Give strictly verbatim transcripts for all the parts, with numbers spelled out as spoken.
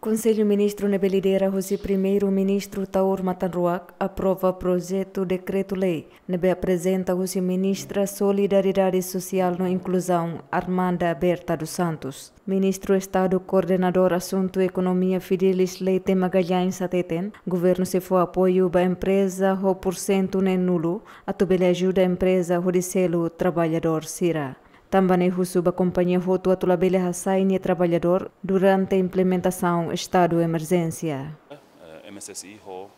Konsellu Ministru ne'ebé lidera husi Primeiru-Ministru Taur Matan Ruak aprova projetu dekretu-lei ne'ebé aprezenta husi Ministra Solidariedade Sosiál no Inkluzaun, Armanda Berta dos Santos. Ministru Estadu Koordenadór Asuntu Ekonomia Fidelis Leite Magalhães hateten, governu sei fó apoiu ba empreza ho pursentu neen-nulu, atu bele ajuda empreza hodi selu traballadór sira. Tanba ne'e husu ba kompañia hotu atu labele hasai nia traballadór durante implementasaun estadu emerjénsia. Eh, M S S I ho,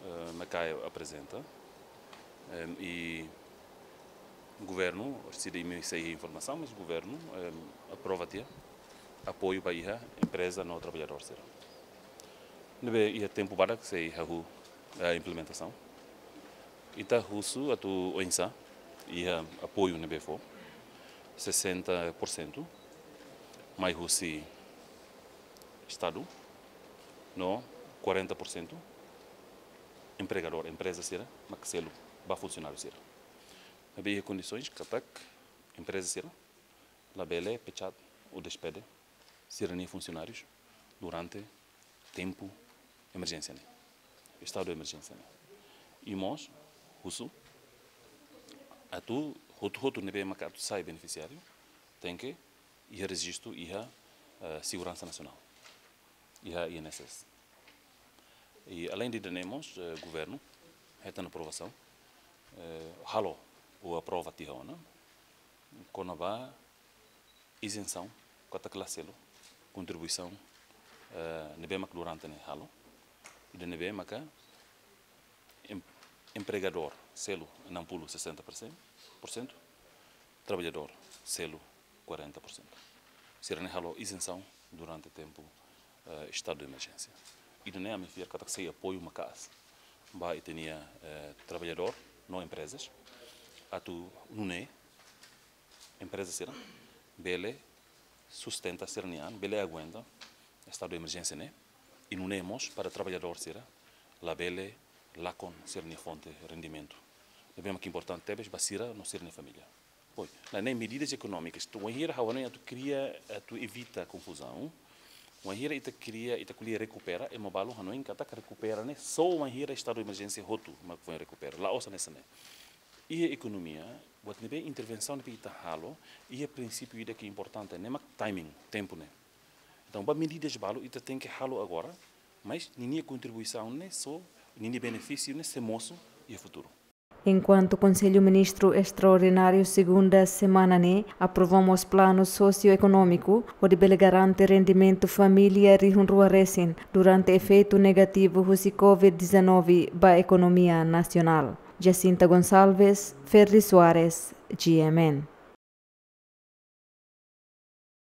eh, Macae aprezenta. Em, i governu, se de imi sei informasaun, mas governu, em, aprova tiha apoiu ba iha empreza no traballadór sira. Ne'ebé iha tempu badak sei hahú, eh, implementasaun. Ita husu atu oinsá iha apoiu ne'ebé fó, sessenta por cento mai husi Estadu, no quarenta por cento empregadór, empreza sira mak selu ba funsionáriu sira. Ne'ebé iha kondisoens katak empreza sira labele pechat ou despede sira-nia funsionárius durante tempu emerjénsia ne'e, estadu emerjénsia ne'e. I mós husu atu hotu-hotu ne'ebé maka atu sai benefisiáriu tenke iha rejistu iha, eh, Seguransa Nasionál, iha I N S S. I além de ida-ne'e mós, eh, governu hetan aprovasaun, eh, halo ou aprova tiha ona kona-ba izensaun katak la selu kontribuisaun, eh, ne'ebé mak durante ne'e halo. Ida ne'ebé maka em-, empregadór selu enam puluh, sessenta por cento, por cento, traballadór selu quarenta por cento. Sira-ne'e halo izensaun durante tempu, eh, estadu de emerjénsia. Ida-ne'e ami fiar katak sei apoiu maka'as ba ita-nia, eh, traballadór no emprezas atu nune'e empreza sira bele sustenta sira-nia an, bele aguenta estadu de emerjénsia ne'e, i nune'e mós para traballadór sira labele lakon sira-nia fonte rendimentu. Ne'ebé mak importante tebes ba sira no sira-nia família. Pois, la ne'e medidas ekonómikas. Entaun, wainhira ha'u hanoin atu kria, atu evita konfuzaun. Wainhira ita kria, ita ko'alia rekupera, ema balu hanoin katak rekupera ne'e só wainhira estadu de emerjénsia hotu mak foin rekupera. La'ós hanesan ne'e. Iha ekonomia, buat ne'ebé intervensaun ne'ebé ita halo, iha prinsípiu ida ke importante, ne'e mak timing, tempu ne'e. Entaun, ba medidas balu ita tenke halo agora, mas ninia kontribuisaun ne'e só, ninia benefísiu ne'e sei mosu iha futuru. Enkuantu Konsellu Ministru Estraordináriu segunda semana ne'e aprova mós planu sosioekonómiku hodi bele garante rendimentu família rihun rua resin durante efeitu negativu husi covid dezanove ba ekonomia nasionál. Jacinta Gonçalves, Ferdi Soares, G M N.